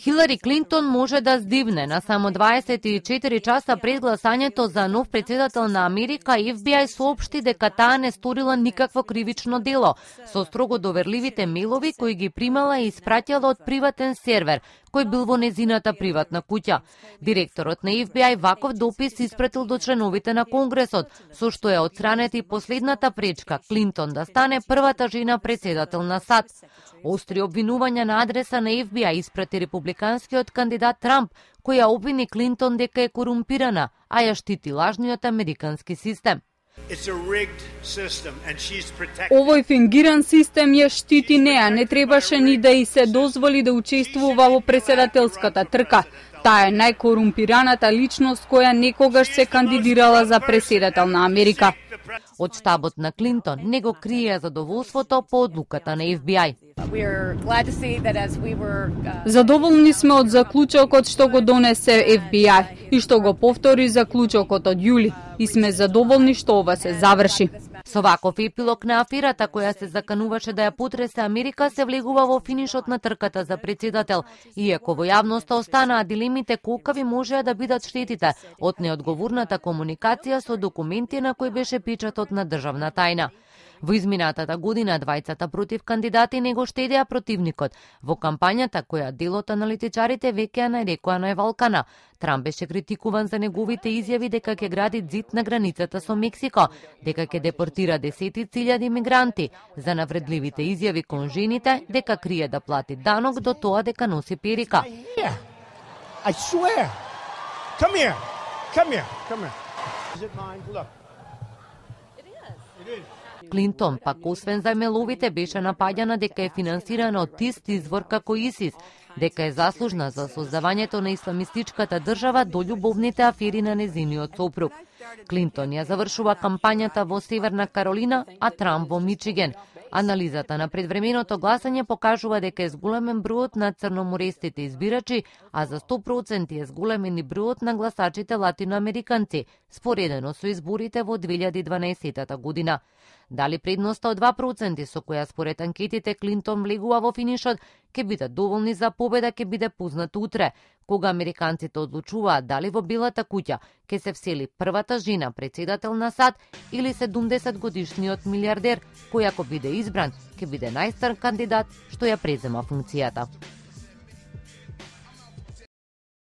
Хилари Клинтон може да здивне. На само 24 часа пред гласањето за нов председател на Америка, FBI соопшти дека таа не сторила никакво кривично дело, со строго доверливите мејлови кои ги примала и испратила од приватен сервер, кој бил во незината приватна куќа. Директорот на FBI ваков допис испратил до членовите на Конгресот, со што е отстранета и последната пречка Клинтон да стане првата жена председател на САД. Остри обвинувања на адреса на FBI испрати републиканскиот кандидат Трамп, кој ја обвини Клинтон дека е корумпирана, а ја штити лажниот американски систем. Овој фингиран систем ја штити неа, не требаше ни да и се дозволи да учествува во председателската трка. Таа е најкорумпираната личност која некогаш се кандидирала за председател на Америка. Од штабот на Клинтон не го крие задоволството по одлуката на FBI. Задоволни сме од заклучокот што го донесе FBI и што го повтори заклучокот од јули и сме задоволни што ова се заврши. Со ваков епилог на аферата која се закануваше да ја потресе Америка се влегува во финишот на трката за председател, иако во јавноста останаа дилемите колкави можеа да бидат штетите од неодговорната комуникација со документи на кои беше печатот на државна тајна. Во изминатата година двајцата против кандидати не го штедеа противникот. Во кампањата која делот аналитичарите веќе ја нарекоа највалкана, Трамп беше критикуван за неговите изјави дека ќе гради зид на границата со Мексико, дека ќе депортира десетици илјади мигранти, за навредливите изјави кон жените, дека крие да плати данок до тоа дека носи перика. I swear. Come here. Come here. Come here. Is it mine? Look. It is. Клинтон, пак освен зајмеловите, беше напаѓана дека е финансирана од ист извор како ИСИС, дека е заслужна за создавањето на исламистичката држава до љубовните афери на незиниот сопруг. Клинтон ја завршува кампањата во Северна Каролина, а Трамп во Мичиген. Анализата на предвременото гласање покажува дека е зголемен бројот на црноморестите избирачи, а за 100% е зголемен и бројот на гласачите латиноамериканци, споредено со изборите во 2012 година. Дали предноста од 2% со која според анкетите Клинтон влегува во финишот, ќе бидат доволни за победа, ќе биде познат утре, кога американците одлучуваат дали во Белата куќа ќе се всели првата жена председател на САД или 70-годишниот милиардер, кој ако биде избран, ќе биде најстар кандидат што ја презема функцијата.